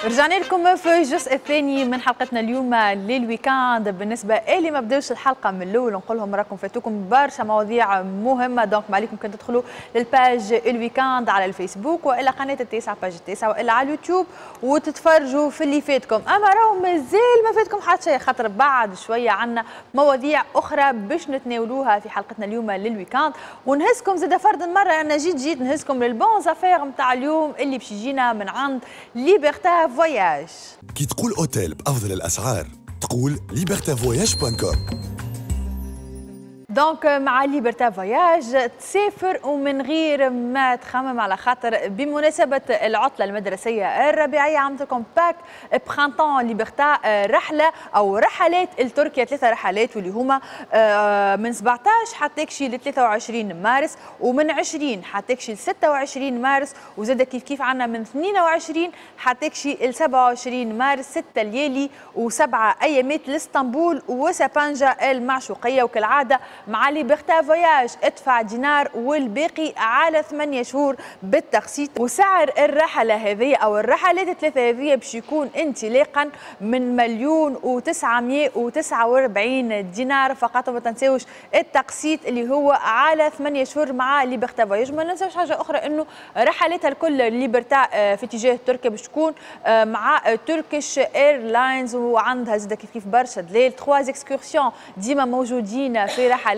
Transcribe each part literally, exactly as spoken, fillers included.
رجعنا لكم في الجزء الثاني من حلقتنا اليوم لل week-end. بالنسبة اللي ما بداوش الحلقة من الاول، نقول لهم راكم فاتوكم برشا مواضيع مهمه، donc ما عليكم كان تدخلوا لل page ال week-end على الفيسبوك والا قناة التاسعه، page التاسعه، والا على اليوتيوب وتتفرجوا في اللي فاتكم. اما راهو مازال ما فاتكم حتى شيء، خاطر بعد شوية عندنا مواضيع اخرى باش نتناولوها في حلقتنا اليوم لل week-end، ونهزكم زاد فرد مرة انا جيت جيت نهزكم لل bonnes affaires نتاع اليوم اللي باش يجينا من عند Liberta Voyages. كي تقول اوتيل بافضل الاسعار تقول Liberta Voyages point com. donc مع Liberta Voyages تسافر ومن غير ما تخمم، على خاطر بمناسبة العطلة المدرسية الربيعية عملت لكم pack printemps Liberta، رحلة أو رحلات لتركيا، ثلاثة رحلات واللي هما آه، من سبعطاش حتى يكشي ل ثلاثة وعشرين مارس، ومن عشرين حتى يكشي ل ستة وعشرين مارس، وزاد كيف كيف عندنا من اثنين وعشرين حتى يكشي ل سبعة وعشرين مارس، ستة ليالي وسبعة أيامات لاسطنبول وسابانجا المعشوقية. وكالعادة مع Liberta Voyages ادفع دينار والباقي على ثمانية شهور بالتقسيط. وسعر الرحلة هذه أو الرحلات الثلاثة هذه باش يكون انطلاقا من مليون وتسعمية وتسعة وأربعين دينار فقط، وما تنساوش التقسيط اللي هو على ثمانية شهور مع Liberta Voyages. ما ننساوش حاجة أخرى، أنه رحلاتها الكل Liberta آه، في اتجاه تركيا باش تكون آه، مع Turkish Airlines، وعندها زاد كيف كيف برشا دليل، trois excursions ديما موجودين في رحلاتها.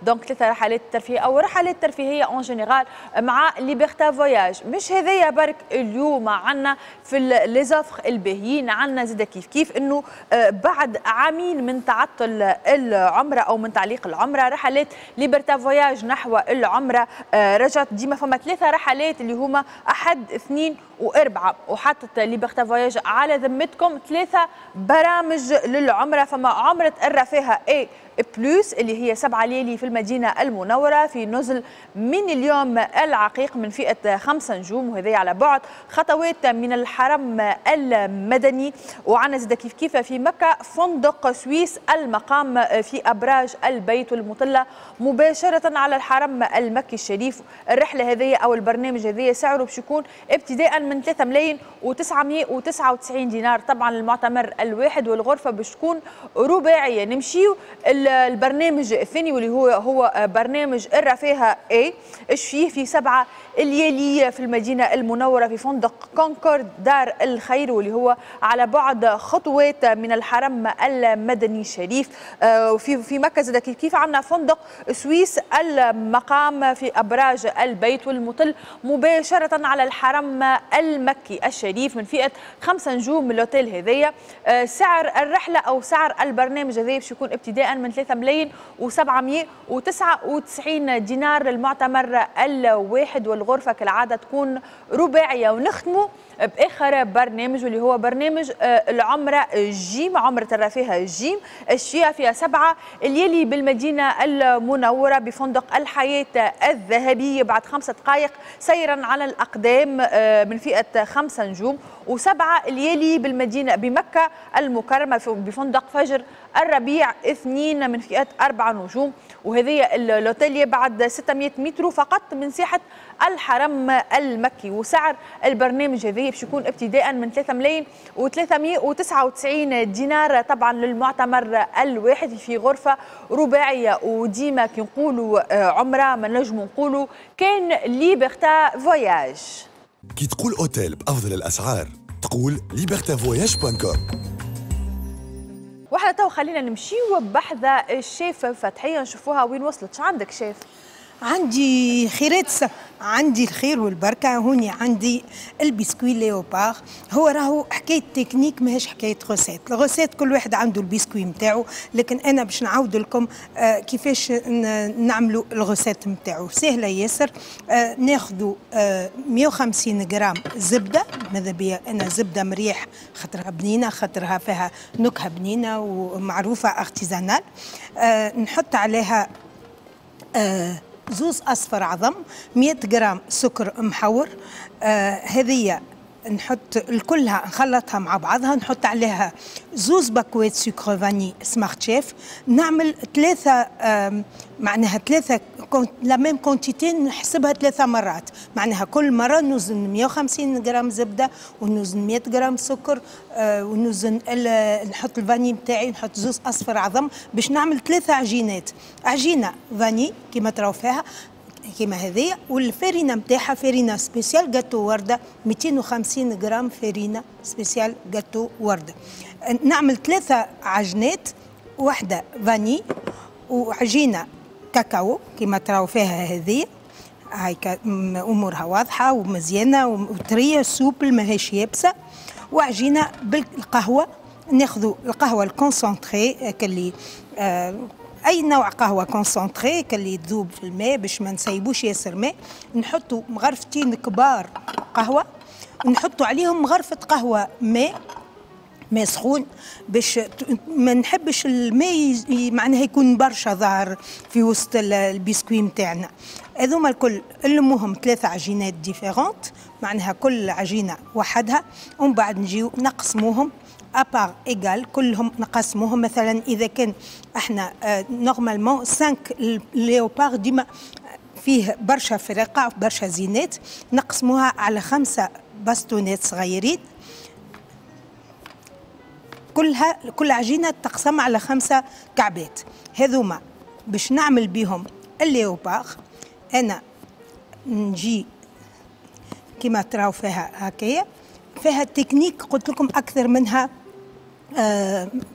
donc ثلاثة رحلات ترفيهية او رحلات ترفيهية en général مع Liberta Voyages. مش هذايا برك، اليوم عندنا في les offres الباهيين عندنا زاد كيف كيف انه آه، بعد عامين من تعطل العمرة او من تعليق العمره، رحلات Liberta Voyages نحو العمرة آه، رجعت. ديما فما ثلاثة رحلات اللي هما احد، اثنين واربعه، وحطت Liberta Voyages على ذمتكم ثلاثة برامج للعمره. فما عمره الرفاهه A plus اللي هي سبعة ليالي في المدينة المنورة في نزل من اليوم العقيق من فئة خمسة نجوم، وهذا على بعد خطوات من الحرم المدني. وعنا زاد كيف كيف في مكة فندق سويس المقام في أبراج البيت والمطلة مباشرة على الحرم المكي الشريف. الرحلة هذه أو البرنامج هذه سعره باش يكون ابتداء من ثلاثة ملايين وتسعمية وتسعة وتسعين دينار طبعا المعتمر الواحد، والغرفة باش تكون رباعية. نمشيو البرنامج الثاني واللي هو هو برنامج الرفاهة A. ايش فيه؟ في سبعة ليالي في المدينة المنورة في فندق كونكورد دار الخير، واللي هو على بعد خطوات من الحرم المدني الشريف. آه، وفي في مكة زاد كيف كيف عندنا فندق سويس المقام في أبراج البيت والمطل مباشرة على الحرم المكي الشريف من فئة خمسة نجوم l'hôtel هذيا. آه، سعر الرحلة أو سعر البرنامج هذايا باش يكون ابتداء من ثلاثة ملايين وسبعمية وتسعة وتسعين دينار للمعتمر الواحد، والغرفة كالعادة تكون رباعية. ونختموا بآخر برنامج واللي هو برنامج آه، العمرة جيم، عمرة الرفاهة جيم الشيعة، فيها سبعة ليالي بالمدينة المنورة بفندق الحياة الذهبي بعد خمسة دقائق سيرا على الأقدام آه، من فئة خمسة نجوم، وسبعة ليالي بالمدينة بمكة المكرمة بفندق فجر الربيع اثنين من فئة أربعة نجوم، وهذه l'hôtel بعد ستمية متر فقط من ساحة الحرم المكي. وسعر البرنامج هذا باش يكون ابتداء من ثلاثة ملايين وثلاثمية وتسعة وتسعين دينار طبعا للمعتمر الواحد في غرفة رباعية. وديما كي نقولوا آه، عمرة ما نجموا نقولوا كان Liberta Voyages. كي تقول اوتيل بافضل الاسعار تقول Liberta Voyages point com. واحنا تو خلينا نمشيو بحذا الشيف فتحيه نشوفوها وين وصلت. شو عندك شيف؟ عندي خيرات س... عندي الخير والبركه. هوني عندي ال biscuit léopard. هو راهو حكاية تكنيك، ماهيش حكاية recette. ال recette كل واحد عنده البسكوي نتاعو، لكن انا باش نعاود لكم آه كيفاش نعملوا ال recette نتاعو، سهلة ياسر. آه ناخذوا آه مية وخمسين غرام زبده، ماذا بيا انا زبدة مريح خاطرها بنينه، خاطرها فيها نكهة بنينه ومعروفة artisanale. آه نحط عليها آه زوز اصفر عظم، مية غرام سكر محور، آه هذه نحط الكلها نخلطها مع بعضها، نحط عليها زوز باكوات sucre vanillé Smart Chef، نعمل ثلاثة معناها ثلاثة la même quantité نحسبها ثلاثة مرات، معناها كل مرة نوزن مية وخمسين غرام زبدة ونوزن مية غرام سكر ونوزن نحط ال vanille نتاعي، نحط زوز اصفر عظم باش نعمل ثلاثة عجينات، عجينه vanille كيما تراو فيها كيما هذيا، والفارينه نتاعها فارينه spéciale gâteau ورده مئتين وخمسين غرام فارينه spéciale gâteau ورده. نعمل ثلاثة عجنات، واحدة vanille وعجينه كاكاو كيما تراو فيها هذه هاي امورها واضحة ومزيانه وطريه souple ماهيش يابسة، وعجينه بالقهوة، ناخذوا القهوة ال concentrée كاللي آه اي نوع قهوة concentrée كاللي تذوب في الماء باش ما نسيبوش ياسر ماء، نحطوا مغرفتين كبار قهوة ونحطوا عليهم مغرفه قهوة ماء ماء سخون باش ما نحبش الماء معناها يكون برشا ظاهر في وسط البسكوي نتاعنا. هذوما الكل نلموهم ثلاثة عجينات différentes، معناها كل عجينه وحدها، ومن بعد نجيو نقسموهم à parts égales، كلهم نقسموهم. مثلا اذا كان احنا normalement خمسة léopard ديما فيه برشا فرقه برشا زينات، نقسموها على خمسة باستونات صغيرين، كلها كل عجينه تقسم على خمسة كعبات. هذوما باش نعمل بهم ال léopard. انا نجي كما تراو فيها هكايا، فيها تكنيك قلت لكم اكثر منها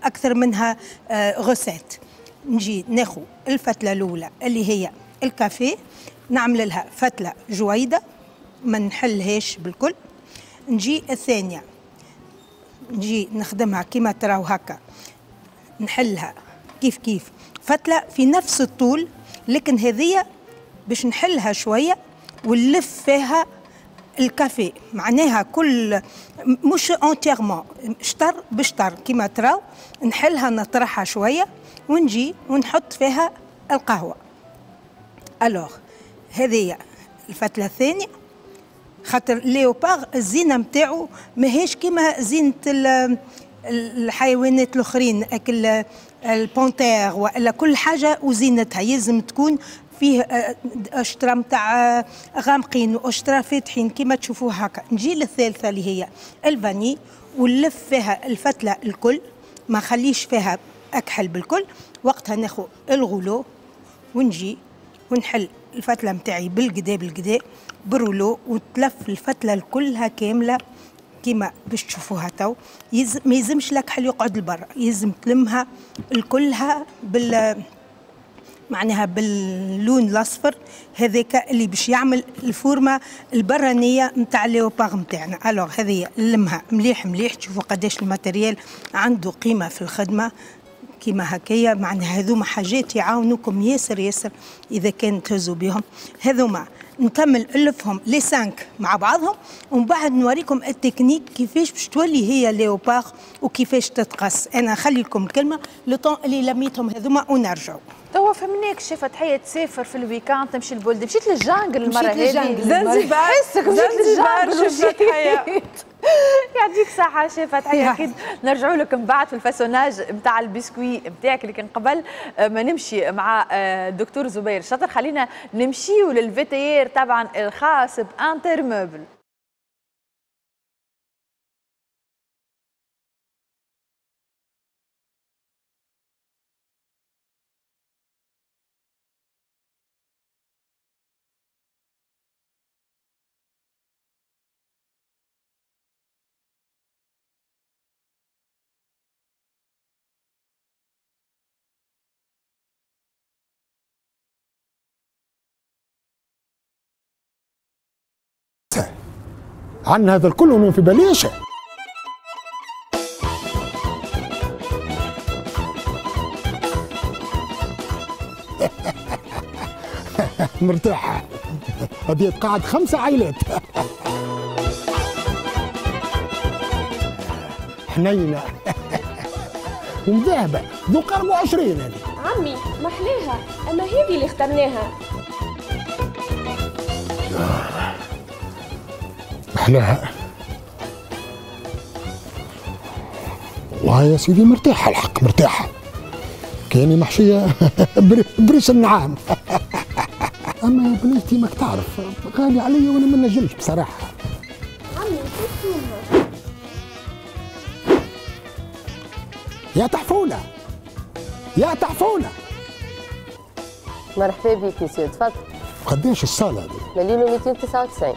اكثر منها recette. نجي ناخذ الفتله الاولى اللي هي الكافيه، نعمل لها فتله جويده ما نحلهاش بالكل. نجي الثانية نجي نخدمها كما تراو هكا، نحلها كيف كيف فتله في نفس الطول، لكن هذه باش نحلها شوية ونلف فيها الكافيه، معناها كل مش entièrement شطر بشطر كما تراو، نحلها نطرحها شوية ونجي ونحط فيها القهوة. alors هذه الفتله الثانية، خاطر léopard الزينة نتاعو ماهيش كيما زينة الحيوانات الاخرين، اكل ال panthère والا كل حاجة وزينتها يلزم تكون فيه اشترا نتاع غامقين واشترا فاتحين كيما تشوفوا هكا. نجي للثالثه اللي هي ال vanille ونلف فيها الفتله الكل، ما نخليش فيها اكحل بالكل. وقتها ناخذ ال rouleau ونجي ونحل الفتله نتاعي بالقدا بالقدا بال rouleau، وتلف الفتله كلها كاملة كيما باش تشوفوها تو. يز... ما يلزمش الاكحل يقعد لبرا، يلزم تلمها الكلها بال معناها باللون الاصفر هذاك اللي باش يعمل الفورمة البرانيه نتاع léopard نتاعنا. alors هذه نلمها مليح مليح، تشوفوا قداش ال matériel عنده قيمة في الخدمة كيما هكايا. معناها هذوما حاجات يعاونوكم ياسر ياسر اذا كان تهزوا بهم. هذوما نكمل الفهم les cinq مع بعضهم ومن بعد نوريكم التكنيك كيفاش باش تولي هي léopard وكيفاش تتقص. انا نخلي لكم الكلمة le temps اللي لميتهم هذوما ونرجعوا. توا فهمناك شي فتحيه تسافر في ال week-end تمشي للبلد، مشيت لل jungle المرة هذه زنزبار، حسك مشيت لل jungle فتحيه. يعطيك صحة شي فتحيه، اكيد نرجعوا لك من بعد في ال façonnage نتاع البسكوي نتاعك، لكن قبل ما نمشي مع الدكتور زبير الشاطر خلينا نمشيو لل VTR طبعا الخاص ب Intermeuble. عن هذا الكل ومن في باليش. مرتاحة هذه تقعد خمسة عائلات. حنينة ومذهبة ذوق أربعة وعشرين هذه. عمي محلاها، أما هذه اللي اخترناها. محلاها والله يا سيدي مرتاحة الحق مرتاحة، كاني محشيه بريش النعام. اما يا بنيتي ماك تعرف غالي عليا وانا ما نجمش بصراحة. عمي شو يا تحفونه يا تحفونه. مرحبا بك يا سيدي، تفضل. قداش الصاله هذه؟ مليون ومئتين وتسعة وتسعين.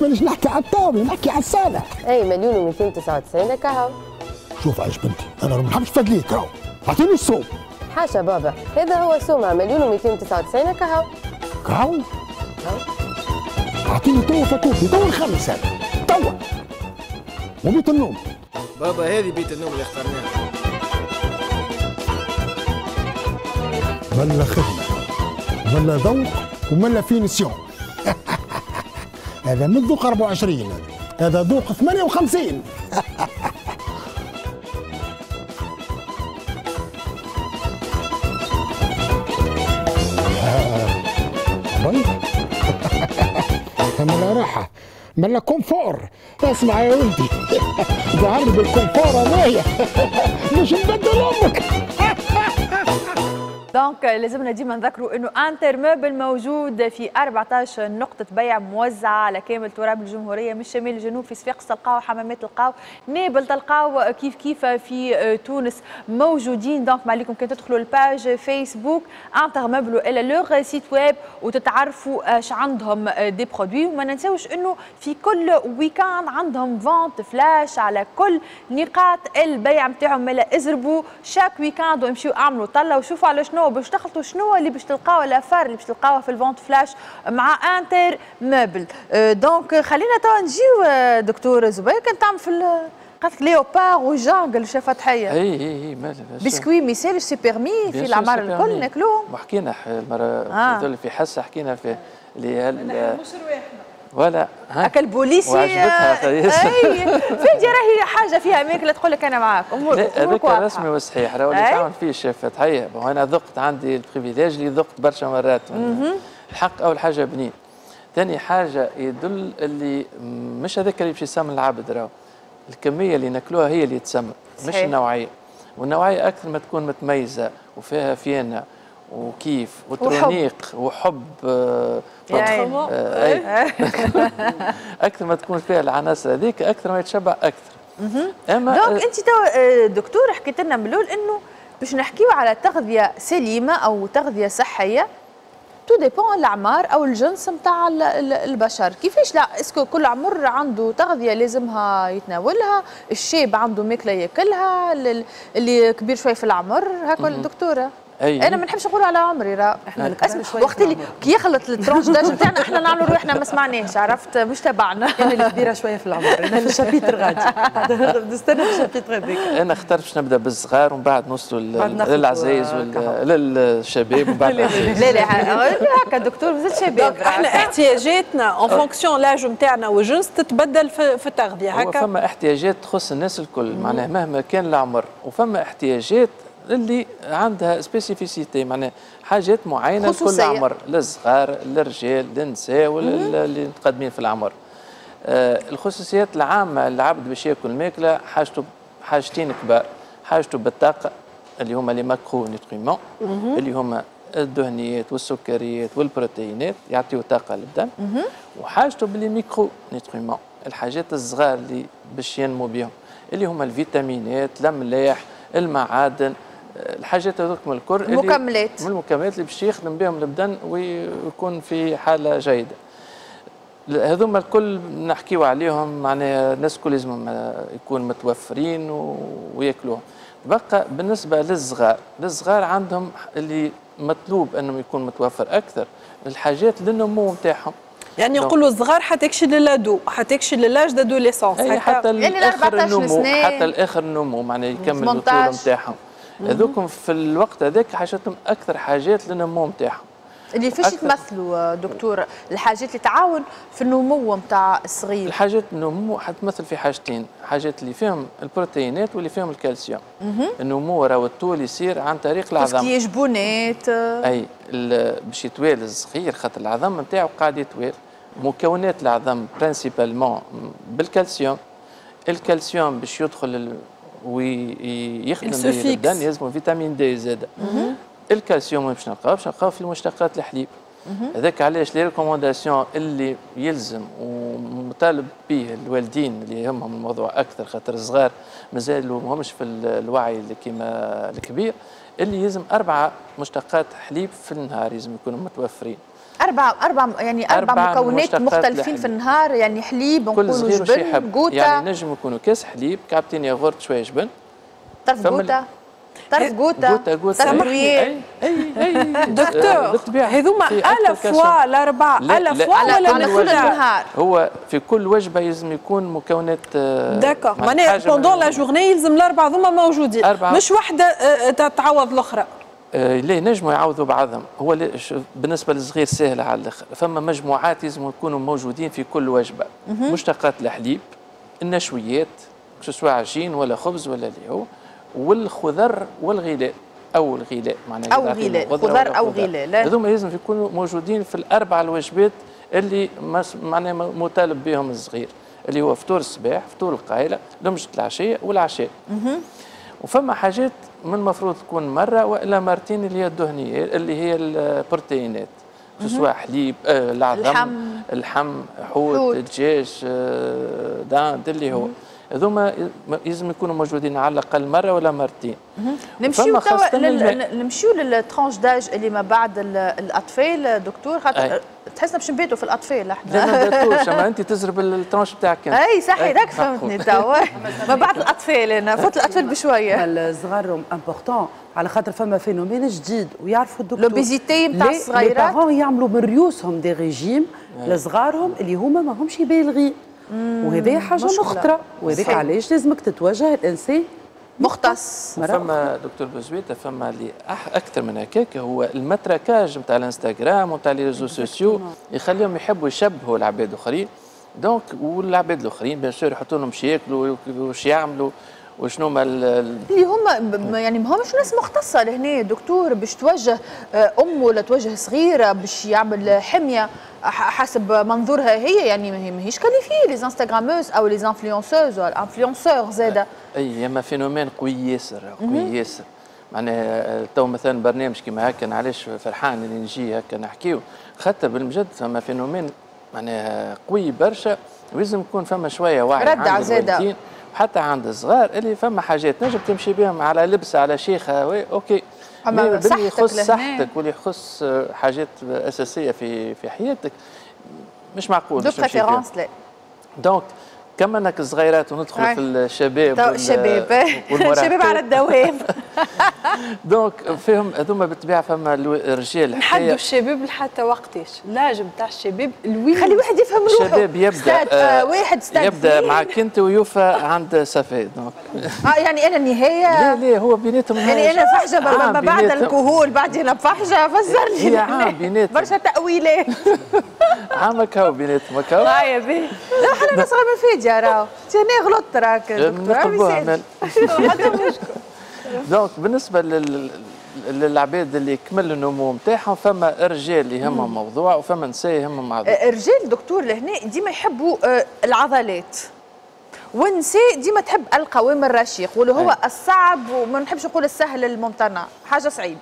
مانيش نحكي على الطاولة، نحكي على الصاله. اي مليون ومئتين وتسعة وتسعين هكا. شوف عايش بنتي، انا ما نحبش فدليك راهو، اعطيني السوم. حاشا بابا، هذا هو سومها مليون ومئتين وتسعة وتسعين هكا. كهو؟ اعطيني توا فاتورتي، توا نخلص هذا، توا. وبيت النوم. بابا هذه بيت النوم اللي اخترناها. ملا خدمة، ملا ذوق، وملا finition. هذا من ذوق أربعة وعشرين، هذا ذوق ثمانية وخمسين. ملا راحة، ملا confort. اسمع يا ولدي، ظهر بال confort هذايا مش نبدل امك. donc لازمنا ديما نذكروا انه Inter Meuble موجود في أربعطاش نقطة بيع موزعة على كامل تراب الجمهورية من الشمال للجنوب، في صفاقس تلقاو، حمامات تلقاو، نابل تلقاو، كيف كيف في تونس موجودين. donc ما عليكم كان تدخلوا ال page Facebook Inter Meuble والا leur site web وتتعرفوا اش عندهم des produits. وما ننساوش انه في كل week-end عندهم vente flash على كل نقاط البيع نتاعهم، مالا ازربوا chaque week-end وامشيو اعملوا طله وشوفوا على شنو باش تخلطوا، شنو اللي باش تلقاو l'affaire اللي باش تلقاوها في ال vente flash مع Inter Meuble. donc خلينا توا نجيو دكتور زبير، كان تعمل في قالت لك léopard و jungle شاف فتحيه. اي اي اي مالا بسكوي ميسالش c'est permis في العمار الكل ناكلوهم. وحكينا المرة آه. في حصة حكينا في اللي مش رواحنا ولا اكل بوليسي وعجبتها. اي فادي راهي حاجة فيها ماكله تقول لك انا معاك امورك هذاك رسمي وصحيح، راهو اللي تعمل فيه الشيف فتحيه. انا ذقت، عندي ال privilège اللي ذقت برشا مرات. الحق اول حاجة بنين، ثاني حاجة يدل اللي مش هذاك اللي باش يسمن العبد، راهو الكمية اللي ناكلوها هي اللي تسمن مش النوعية. والنوعيه اكثر ما تكون متميزة وفيها فينا وكيف وترونيق وحب, وحب آه آه اكثر ما تكون فيها العناصر هذيك اكثر ما يتشبع اكثر. اما donc انت تو دكتور حكيت لنا من الاول انه باش نحكيو على تغذية سليمة او تغذية صحية tout dépend الاعمار او الجنس نتاع البشر. كيفاش؟ لا est-ce que كل عمر عنده تغذية لازمها يتناولها، الشاب عنده ماكله ياكلها، اللي كبير شوية في العمر هكا الدكتورة. أيه. انا ما نحبش نقول على عمري راه احنا وقت اللي كي يخلط ال tranche d'âge نتاعنا احنا نعملوا روحنا ما سمعناش، عرفت مش تبعنا. انا اللي كبيرة شوية في العمر، انا في ال chapitre غادي نستنى في ال chapitre هذاك. انا اخترت باش نبدا بالصغار ومن بعد نوصلوا للعزايز للشباب ومن بعد لا لا هكا دكتور مازال شباب. احنا احتياجاتنا en fonction l'âge نتاعنا والجنس تتبدل في التغذية هكا. فما احتياجات تخص الناس الكل معناها مهما كان العمر، وفما احتياجات اللي عندها spécificité معناها حاجات معينة لكل عمر، للصغار للرجال للنساء واللي متقدمين في العمر. آه الخصوصيات العامة العبد باش ياكل ماكله حاجته حاجتين كبار، حاجته بالطاقة اللي هما les macronutriments اللي هما الدهنيات والسكريات والبروتينات يعطيو طاقة للبدن، وحاجته ب les micronutriments الحاجات الصغار اللي باش ينمو بهم اللي هما الفيتامينات، الاملاح، المعادن، الحاجات هذوك من الكل المكملات من المكملات اللي باش يخدم بهم البدن ويكون في حاله جيدة. هذوما الكل نحكيو عليهم معناها الناس الكل لازم يكون متوفرين وياكلوهم. بقى بالنسبة للصغار، للصغار عندهم اللي مطلوب انهم يكون متوفر اكثر الحاجات للنمو نتاعهم. يعني يقولوا الصغار حتكشي ل l'ado، حتكشي l'âge d'adolescence، حتى يعني اخر النمو، حتى الاخر النمو معناها يكمل الطول نتاعهم. هذوكم في الوقت هذاك حاجتهم اكثر حاجات للنمو نتاعهم. اللي فاش يتمثلوا دكتور الحاجات اللي تعاون في النمو نتاع الصغير؟ الحاجات النمو حتمثل في حاجتين، حاجات اللي فيهم البروتينات واللي فيهم الكالسيوم. النمو راهو الطول يصير عن طريق العظم. كي جبونات اي باش يتوالى الصغير خاطر العظم نتاعو قاعد يتوالى. مكونات العظم principalement بالكالسيوم، الكالسيوم باش يدخل ويخدم به البدن يلزمو vitamine D زاده. الكالسيوم باش نلقاو باش نلقاو في مشتقات الحليب. هذاك علاش les recommandations اللي يلزم ومطالب به الوالدين اللي يهمهم الموضوع اكثر، خاطر الصغار مازالوا ماهمش في الوعي اللي كيما الكبير، اللي يلزم اربعة مشتقات حليب في النهار لازم يكونوا متوفرين. أربعة أربعة يعني أربع, أربع مكونات مختلفين في النهار، يعني حليب نقولوا جبن قوطة، يعني نجم يكونوا كاس حليب، كعبتين ياغورت، شوية جبن، طرف قوطة، طرف قوطة، طرف اي اي دكتور هذوما à la fois الأربعة à la fois ولا على كل النهار؟ هو في كل وجبة لازم يكون مكونات. d'accord، معناها pendant la journée يلزم الأربعة هذوما موجودين، مش واحدة تعوض الأخرى. آه لا، نجموا يعوضوا بعضهم. هو بالنسبة للصغير سهل على الاخر، فما مجموعات لازم يكونوا موجودين في كل وجبة. مشتقات الحليب، النشويات سواء عجين ولا خبز ولا اللي هو، والخضر والغلاء او الغلاء، معناها او غلاء، خضر او غلاء، هذوما لازم يكونوا موجودين في الاربع الوجبات اللي معناها مطالب بهم الصغير، اللي هو فطور الصباح، فطور القايله، لمجة العشية والعشاء. وفما حاجات من المفروض تكون مرة والا مرتين، اللي هي الدهنيات اللي هي البروتينات، سواء حليب، آه العظم، اللحم، حوت، دجاج، آه dinde، اللي هو هذوما لازم يكونوا موجودين على الاقل مرة ولا مرتين. نمشيو توا لل... نمشيو لل tranche d'âge اللي ما بعد الاطفال دكتور، خاطر تحسنا باش نباتوا في الاطفال احنا. لا ما نباتوش، اما انت تزرب ال tranche بتاعك. اي صحيح، راك فهمتني توا. ما بعد الاطفال، انا فوت الاطفال بشوية. الصغار important على خاطر فما phénomène جديد ويعرفوا الدكتور، l'obésité نتاع الصغيرات. les parents يعملوا من ريوسهم des régimes لصغارهم اللي هما ماهمش بالغين، وهذه حاجة مخطره، وهذاك علاش لازمك تتوجه الانسان مختص. فما دكتور بوزويته، فما اللي اكثر من هكاك، هو ال matraquage نتاع الانستغرام ونتاع les réseaux sociaux يخليهم يحبوا يشبهوا العباد الاخرين. donc والعباد الاخرين bien sûr يحطوا لهم شي ياكلوا وش يعملوا وشنو ما اللي هما، يعني ما همش ناس مختصة لهنا دكتور باش توجه ام ولا توجه صغيرة باش يعمل حمية حسب منظورها هي، يعني ماهيش qualifiées les instagrameuses او les influenceuses ولا influenceurs زاده. اي اما phénomène قوي ياسر، قوي ياسر. معناها تو مثلا برنامج كيما هكا، علاش فرحان اللي نجي هكا نحكيو، خاطر بالمجد فما phénomène معناها قوي برشا، ولازم يكون فما شوية وعي عند الوالدين حتى عند الصغار، اللي فما حاجات نجم تمشي بهم على لبسه على شيخه OK، اما باللي يخص صحتك واللي يخص حاجات اساسية في في حياتك مش معقول. de préférence لا. donc كما انك الصغيرات وندخل في الشباب، الشباب الشباب على الدوام. donc فيهم هذوما بالطبيعة فما الرجال نحدوا الشباب لحتى وقتاش l'âge نتاع الشباب الوين، خلي واحد يفهم روحه. الشباب يبدا آه واحد يبدا معك انت ويوفى عند صفاء. donc اه يعني انا النهاية؟ لا لا، هو بيناتهم يعني انا فحجه ما بعد الكهول بعد انا فحجه، فسر لي هي عام بيناتهم برشا تاويلات. عامك هو بيناتهم هكا. هاي بي لا حنا انا صغير من فيديا راهو انا غلطت راك دكتور. donc بالنسبة لل للعباد اللي كمل النمو نتاعهم، فما رجال اللي يهمهم موضوع وفما نساء يهمهم موضوع. الرجال دكتور لهنا ديما يحبوا العضلات، والنساء ديما تحب القوام الرشيق واللي هو الصعب، وما نحبش نقول السهل الممتنع، حاجة صعيبة.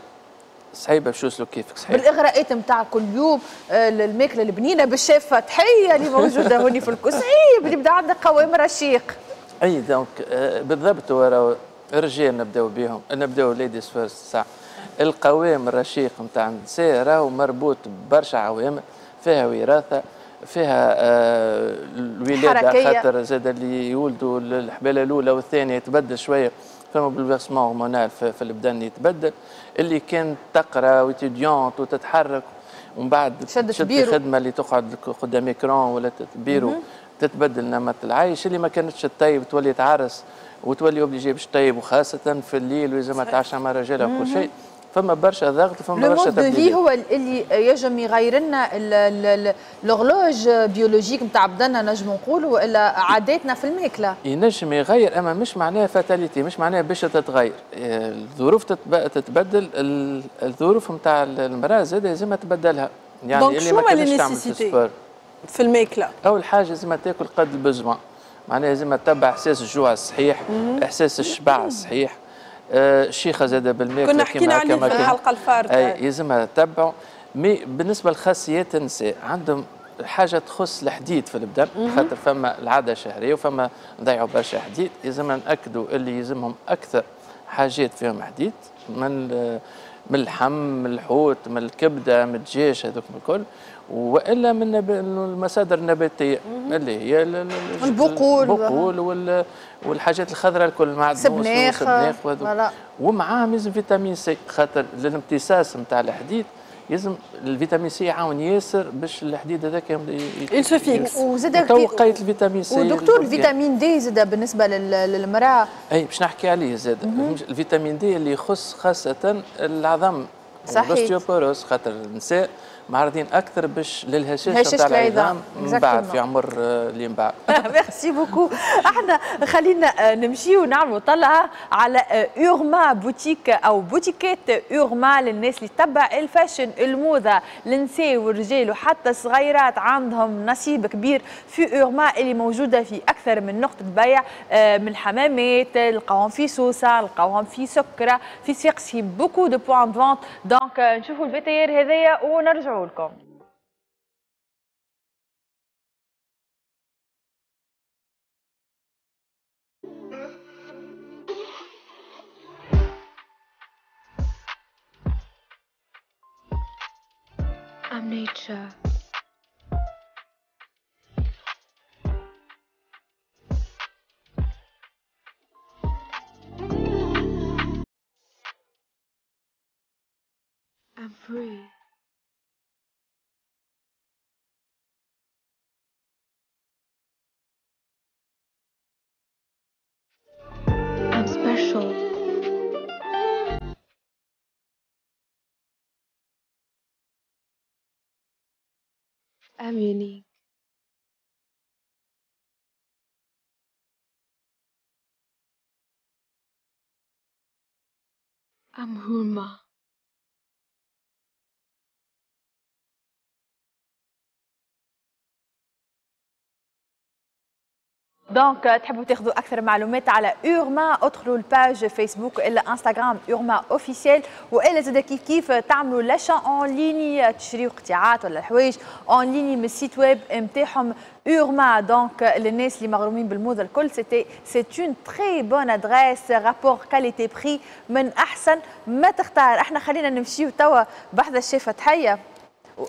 صعيبة باش يوصلوا كيفك صحيح. بالاغراءات نتاع كل يوم، الماكلة البنينه بالشيف فتحيه اللي موجودة هوني في الكل، صعيب اللي يبدا عندك قوام رشيق. اي donc بالضبط، هو الرجال نبداو بهم، نبداو ladies first. ساعة القوام الرشيق نتاع النساء راهو مربوط ببرشا عوامل، فيها وراثه، فيها آه الولادة، خاطر زاد اللي يولدوا الحباله الاولى والثانية يتبدل شوية، فما bouleversement hormonal في, في البدن يتبدل. اللي كانت تقرا و étudiante وتتحرك ومن بعد تشد الخدمة اللي تقعد قدام écran ولا بيرو تتبدل نمط العيش. اللي ما كانتش تطيب تولي تعرس وتولي obligée باش تطيب، وخاصة في الليل ولازم تعشى مع رجالها وكل شيء. فما برشا ضغط، فما برشا تبديل. هو اللي يجم يغير لنا l'horloge biologique نتاع بدنا نجم نقولوا، والا عاداتنا في الماكلة ينجم يغير، اما مش معناها fatalité، مش معناها باش تتغير الظروف، تتبدل الظروف نتاع المراة زاد لازم تبدلها. يعني اللي ما كانتش تعمل في ال sport في الماكلة، اول حاجة لازم تاكل قد ال besoin. معناها لازم تتبع احساس الجوع الصحيح، احساس الشبع الصحيح. آه الشيخه زاده بالماكله كنا حكينا عليه في الحلقة الفارطه. اي لازمها تتبعوا. mais بالنسبة لخاصيات النساء عندهم حاجة تخص الحديد في البدن، خاطر فما العادة الشهرية وفما نضيعوا برشا حديد، لازم ناكدوا اللي يلزمهم اكثر حاجات فيهم حديد من من اللحم، من الحوت، من الكبده، من الدجاج، هذوك الكل، والا من المصادر النباتية اللي هي البقول البقول والحاجات الخضراء الكل، مع سبناخ وسبناخ، ومعاهم لازم vitamine C، خاطر للامتصاص نتاع الحديد لازم ال vitamine C يعاون ياسر باش الحديد هذاك il se fixe. وزاد توقيت ال vitamine C. ودكتور ال vitamine D زاد بالنسبة للمراة. اي باش نحكي عليه زاد ال vitamine D اللي يخص خاصة العظم، صحيح، ال ostéoporose، خاطر النساء معرضين اكثر باش للهشاشه نتاع العظام من بعد في عمر اللي من بعد. merci beaucoup. احنا خلينا نمشي ونعملوا طلعه على اورما بوتيك او بوتيكات اورما للناس اللي تتبع ال fashion، الموضة، النساء والرجال وحتى الصغيرات عندهم نصيب كبير في اورما اللي موجودة في اكثر من نقطة بيع، من الحمامات، لقاوهم في سوسة، لقاوهم في سكره، في صفاقس، في beaucoup de points de vente. donc نشوفوا ال VTR هذايا ونرجعوا لكم. I'm nature. I'm free. I'm special. I'm unique. I'm Hurma. donc تحبوا تاخذوا اكثر معلومات على اورما، ادخلوا ال page فيسبوك الا انستغرام اورما officiel، والا زاد كيف كيف تعملوا l'achat en ligne، تشريوا قطعات ولا الحوايج en ligne من ال site web نتاعهم اورما. donc للناس اللي مغرومين بالموضه الكل، c'était c'est une très bonne adresse، rapport qualité prix من احسن ما تختار. احنا خلينا نمشيو توا بحذا الشيفه تحية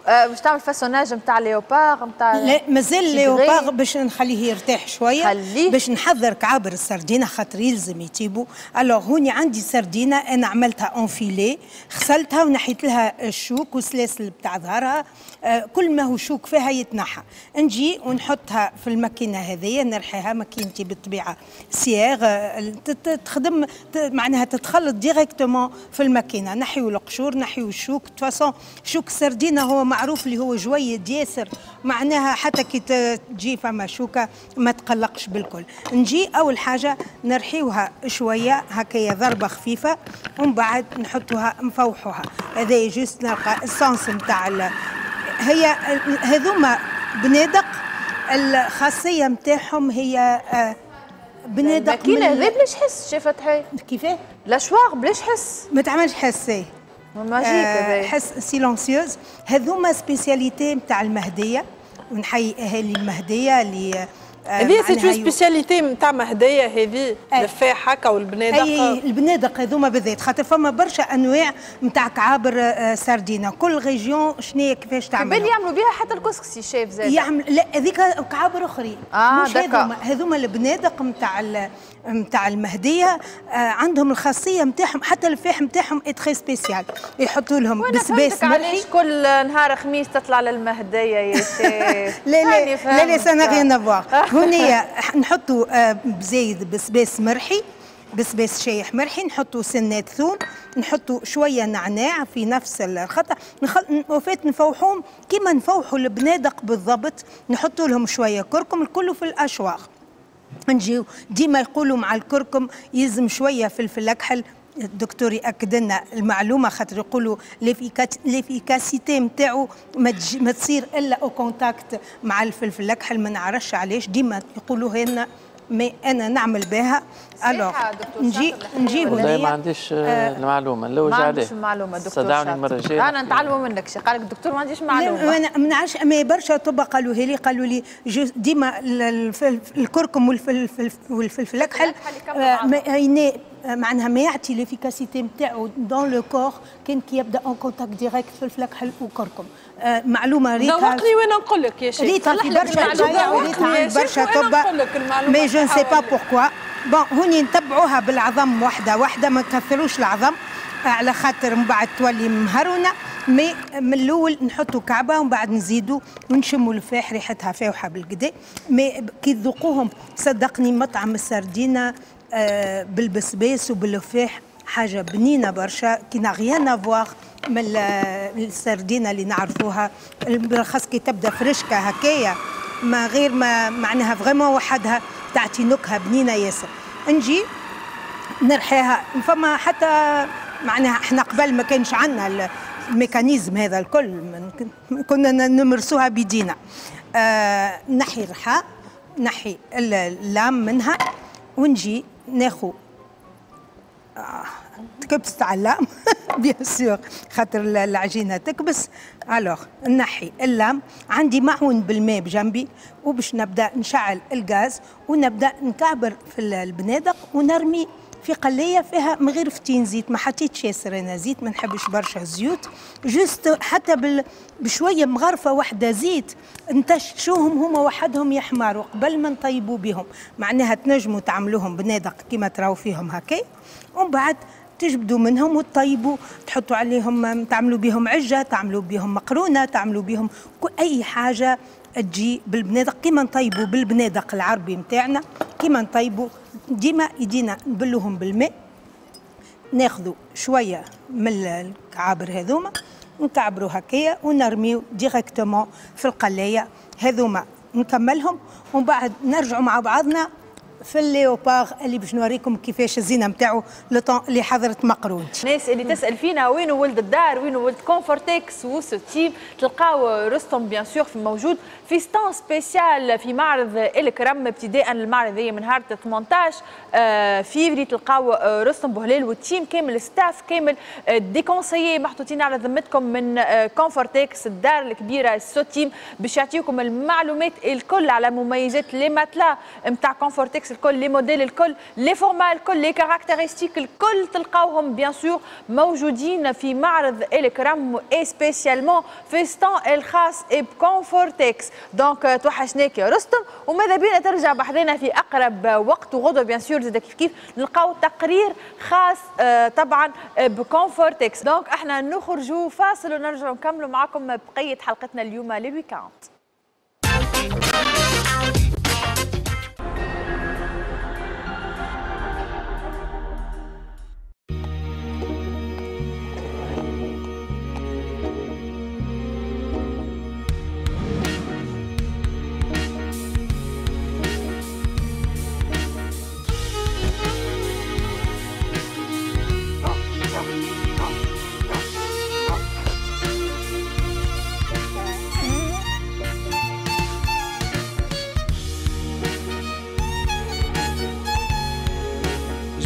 باش تعمل façonnage نتاع léopard نتاع. لا مازال léopard باش نخليه يرتاح شوية، خليه باش نحضر كعابر السردينه خاطر يلزم يطيبوا. alors هوني عندي سردينه انا عملتها en filet، غسلتها ونحيت لها الشوك والسلاسل بتاع ظهرها، آه كل ما هو شوك فيها يتنحى. نجي ونحطها في الماكينة هذيا نرحيها، ماكينتي بالطبيعة سياغ تخدم، معناها تتخلط directement في الماكينة. نحيو القشور، نحيو الشوك، de toute façon شوك السردينه هو معروف اللي هو جويد ياسر، معناها حتى كي تجي فما شوكه ما تقلقش بالكل. نجي اول حاجة نرحيوها شوية هكايا ضربه خفيفة، ومن بعد نحطوها نفوحوها. هذا juste نلقى ال sens نتاع هي هذوما بنادق، الخاصية نتاعهم هي بنادق. الماكينة هذه بلاش حس شافت هاي كيفاه؟ l'hachoir بلاش حس، ما تعملش حس، magique هذا حس silencieuse. هذوما spécialité نتاع المهدية، ونحيي اهالي المهدية اللي هذه c'est une spécialité نتاع مهديه، هذه الفاح هكا والبنادق. اي البنادق هذوما بالذات، خاطر فما برشا انواع نتاع كعابر سردينه، كل région شنيا كيفاش تعمل. بالي يعملوا بها حتى الكسكسي شيف زاد يعمل. لا هذيك كعابر اخرين، آه مش هذوما. هذوما البنادق نتاع نتاع المهدية آه عندهم الخاصية نتاعهم، حتى الفاح نتاعهم très spécial، يحطوا لهم بسباس مرحي. علاش كل نهار خميس تطلع للمهديه يا شيف؟ لا لا لا لا ça n'a rien à voir. هنا نحطوا بزايد بسباس مرحي، بسباس شايح مرحي، نحطوا سنات ثوم، نحطوا شوية نعناع في نفس الخطأ، نخل... وفات نفوحوهم كيما نفوحوا البنادق بالضبط، نحطوا لهم شوية كركم الكل في ال hachoir. نجيو ديما يقولوا مع الكركم يلزم شوية فلفل اكحل الدكتور ياكد لنا المعلومة، خاطر يقولوا l'efficacité نتاعو ما تصير الا au contact مع الفلفل الاكحل، ما نعرفش علاش ديما يقولوها لنا، mais انا نعمل بها. alors نجي نجي والله ما عنديش آه المعلومة، نلوج عليه. ما عنديش المعلومة دكتور، صدعني المرة الجاية انا نتعلموا منك. شي قال لك الدكتور ما عنديش معلومة. انا ما نعرفش، mais برشا طب قالوها لي، قالوا لي ديما الكركم والفلفل والفلفل الاكحل معناها ما يعطي l'efficacité نتاعو dans le corps كان كي يبدا en contact direct فلفل اكحل وكركم. آه معلومة ريتها ذوقني وانا نقول لك يا شيخ، ريتها في برشا وريتها عند برشا طب، mais je ne sais pas pourquoi. bon هوني نتبعوها بالعظم وحده وحده، ما نكثروش العظم على خاطر من بعد تولي مهرونه، mais من الاول نحطوا كعبه ومن بعد نزيدوا ونشموا الفاح ريحتها فاوحه بالكدا. mais كي تذوقوهم صدقني مطعم السردينه آه بالبسباس وبالفاح حاجة بنينه برشا qui n'a rien à voir من السردينه اللي نعرفوها، بالخاص كي تبدا فرشكه هكايا ما غير ما معناها vraiment وحدها تعطي نكهة بنينه ياسر. نجي نرحيها، فما حتى معناها احنا قبل ما كانش عندنا ال mécanisme هذا الكل، كنا نمرسوها بيدينا. آه نحي الرحى، نحي ال lame منها، ونجي ناخو آه تكبس تاع ال lame bien sûr خاطر العجينة تكبس. alors نحي ال lame، عندي معون بالماء بجنبي، وباش نبدا نشعل الغاز ونبدا نكعبر في البنادق ونرمي في قليه فيها من غير فتين زيت، ما حطيتش ياسر انا زيت، ما نحبش برشا زيوت، juste حتى بال... بشوية مغرفه واحدة زيت نتشوهم هما وحدهم يحمروا قبل ما نطيبوا بهم، معناها تنجموا تعملوهم بنادق كيما تراو فيهم هكا، ومن بعد تجبدوا منهم وتطيبوا، تحطوا عليهم، تعملوا بهم عجة، تعملوا بهم مقرونة، تعملوا بهم اي حاجة تجي بالبنادق كيما نطيبوا بالبنادق العربي نتاعنا، كيما نطيبوا ديما يدينا نبلوهم بالماء، ناخذوا شوية من الكعابر هذوما نكعبروا هكايا ونرميو directement في القلايه هذوما، نكملهم ومن بعد نرجعوا مع بعضنا في ال léopard اللي باش نوريكم كيفاش الزينة نتاعو le temps اللي حضرت مقرون. الناس اللي تسال فينا وين ولد الدار، وين ولد Confortex وسوتيم، تلقاو رستم bien sûr في موجود في stand spécial في معرض الكرم، ابتداء المعرض هي من نهار ثمانية عشر فيفري، تلقاو رستم بوهلال وال team كامل، staff كامل، des conseillers محطوطين على ذمتكم من Confortex الدار الكبيرة سوتيم، باش يعطيكم المعلومات الكل على مميزات les matelas نتاع Confortex الكل، les modèles الكل، les formats الكل، les caractéristiques الكل تلقاوهم bien sûr موجودين في معرض الكرم et spécialement في stand الخاص ب Confortex. donc توحشناك يا رستم، وماذا بينا ترجع بحذنا في اقرب وقت، وغدوه bien sûr زاد كيف كيف نلقاو تقرير خاص طبعا ب Confortex. donc احنا نخرجوا فاصل ونرجعوا نكملوا معاكم بقية حلقتنا اليوم لل week-end.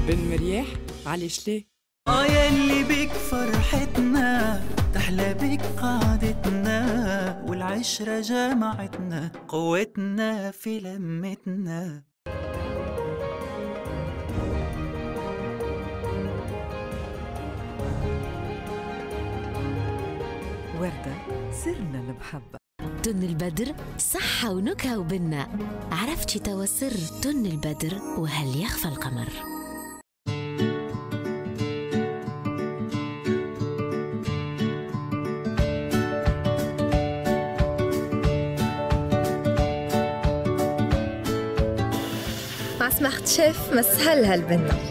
بن مرياح علاش ليه؟ اه يا اللي بيك فرحتنا تحلى بيك قعدتنا والعشرة جمعتنا قوتنا في لمتنا. وردة سرنا المحبة. تن البدر صحة ونكهة وبنة، عرفتي توا سر تن البدر وهل يخفى القمر. مع سماحة شيف مسهل هالبنة.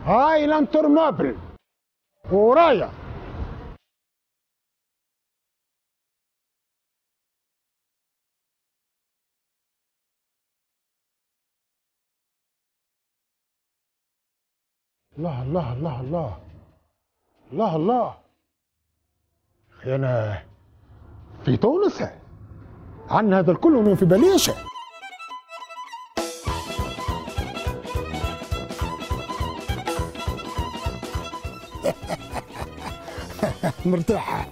هاي l'intournable ورايا. الله الله الله الله الله الله. اخي انا في تونس عن هذا الكل وما في باليش. مرتاحة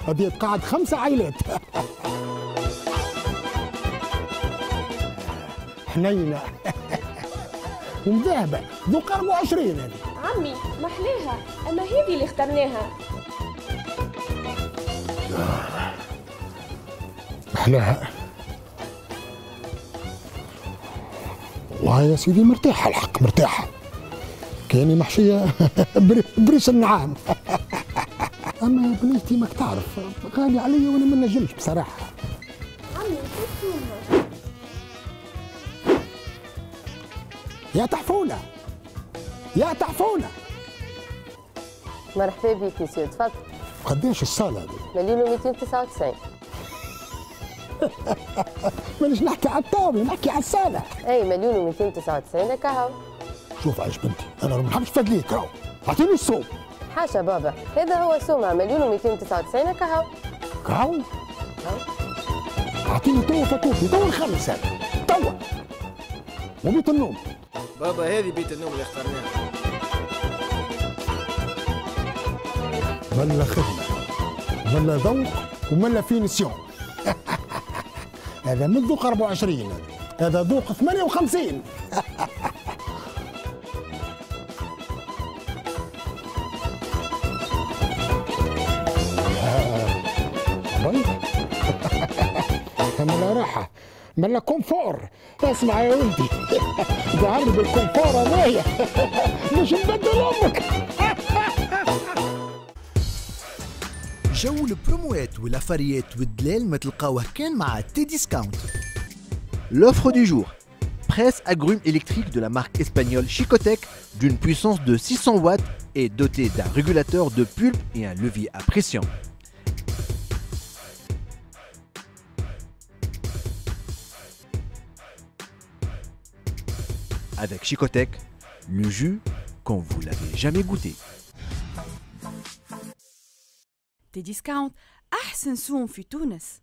هذه تقعد خمسة عائلات. حنينة ومذهبة ذوق أربعة وعشرين هذه. عمي محلاها، أما هذه اللي اخترناها. محلاها والله يا سيدي، مرتاحة الحق مرتاحة، كأني محشية بريش النعام. أما يا بنيتي ماك تعرف غالي عليا وأنا ما نجمش بصراحة. عمي كيف يا تحفونة يا تحفونة. مرحبا بك مسيو، تفضل. قداش الصالة هذه؟ مليون ومئتين وتسعة وتسعين. مانيش نحكي على الطاولة، نحكي على الصالة. اي مليون ومئتين وتسعة وتسعين هكا. شوف عايش بنتي، أنا ما نحبش فدليك راهو، أعطيني السوم. حاشا بابا، هذا هو سومها مليون ومئتين وتسعة وتسعين هكا. كهو؟ أعطيني توا فاتورتي، توا نخلص هذا، توا. وبيت النوم. بابا هذه بيت النوم اللي اخترناها. ملا خدمة، ملا ذوق، وملا finition. هذا من ذوق أربعة وعشرين، هذا ذوق ثمانية وخمسين. ملا راحة، ملا confort. اسمع يا ولدي، ظهر بال confort هذايا مش نبدل امك. جو البروموات والافاريات والدلال ما تلقاوه كان مع T-Discount. L'offre du jour. Presse agrumes électrique de la marque espagnole Chicotec d'une puissance de six cents watts et dotée d'un régulateur de pulpe et un levier à pression. Avec Chicotec, le jus comme vous l'avez jamais goûté. T-Discount أحسن سوم في تونس.